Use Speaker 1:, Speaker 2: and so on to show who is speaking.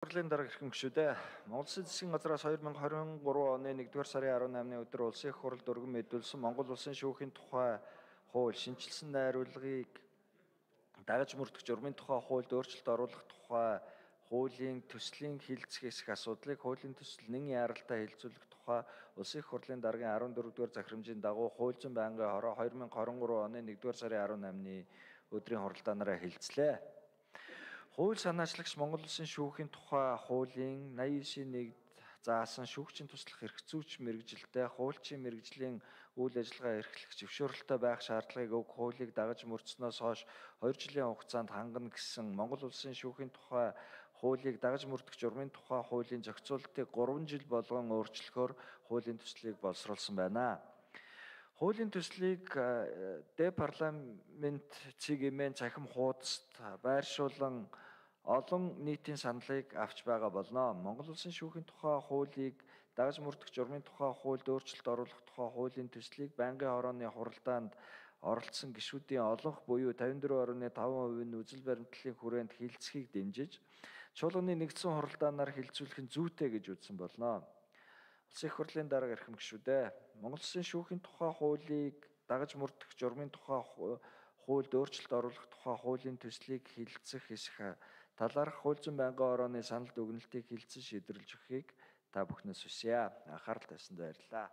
Speaker 1: Хурлын дарга хэрхэн гүшүүдээ. Монгол Улсын засгийн газраас 2023 оны 1-р сарын 18-ны өдөр улсын их хурлд өргөн мэдүүлсэн Монгол Улсын шүүхийн тухай хууль шинжилсэн найруулгыг дагаж мөрдөх журмын тухай хуульд өөрчлөлт оруулах тухай хуулийн төслийн хилцэх хэсэх асуудлыг хуулийн төсөл нэн яаралтай хэлэлцүүлэх тухай улсын их хурлын даргын 14-р захирамжийн дагуу хууль зүйн байнгын хороо 2023 оны 1-р сарын 18-ны өдрийн хуралдаанаараа хэлэлцлээ. Хууль санаачлагч Монгол Улсын шүүхийн тухай хуулийн 89-ийн 1-д заасан шүүгчийн туслах эрхцүүч мэргэжилтэй хуульчийн мэргэжлийн үйл ажиллагаа эрхлэх зөвшөөрөлтөй байх шаардлагыг өг хуулийг дагаж мөрдснөөс хойш 2 жилийн хугацаанд хангана гэсэн Монгол Улсын шүүхийн тухай хуулийг дагаж мөрдөх журмын тухай хуулийн зохицуултыг 3 жил болгон өөрчлөхөөр хуулийн төслийг боловсруулсан байна. Хуулийн төслийг депарламент цэгийн цахим хуудасд байршуулан олон нийтийн саналыг авч байгаа болно. Монгол Улсын шүүхийн тухай хуулийг дагаж мөрдөх журмын тухай хуульд өөрчлөлт оруулах тухай хуулийн төслийг байнгын хорооны хуралдаанд оролцсон гишүүдийн олонх буюу 54.5% нь үзэл баримтлалын хүрээнд хилцхийг дэмжиж, чуулганы нэгдсэн хуралдаанаар хилцүүлэх нь зүйтэй гэж үзсэн болно. Улсын их хурлын дарга эрхэм гишүүдээ. Монгол Улсын шүүхийн тухай хуулийг дагаж мөрдөх журмын тухай хуульд өөрчлөлт оруулах тухай хуулийн төслийг хилцэх хэсэх талаарх хууль зүйн байнгын хорооны санал дүгнэлтийг хилцэн шийдвэрлэж өгөхийг та бүхнээс хүсье. Анхаарал тавьсанд баярлалаа.